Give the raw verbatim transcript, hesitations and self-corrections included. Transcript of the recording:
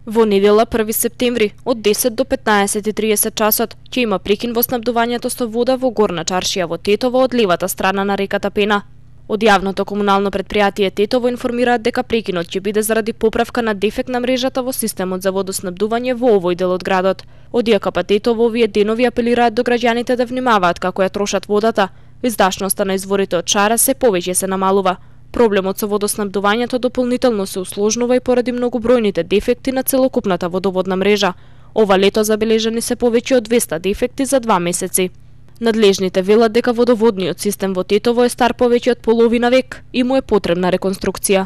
Во недела први септември од десет до петнаесет и триесет часот ќе има прекин во снабдувањето со вода во Горна Чаршија во Тетово од левата страна на реката Пена. Од јавното комунално предпријатие Тетово информираат дека прекинот ќе биде заради поправка на дефект на мрежата во системот за водоснабдување во овој дел од градот. Од ЈКП Тетово овие денови апелираат до граѓаните да внимаваат како ја трошат водата. Издашноста на изворите од шара се повеќе се намалува. Проблемот со водоснабдувањето дополнително се усложнува и поради многобројните дефекти на целокупната водоводна мрежа. Ова лето забележани се повеќе од двесте дефекти за два месеци. Надлежните велат дека водоводниот систем во Тетово е стар повеќе од половина век и му е потребна реконструкција.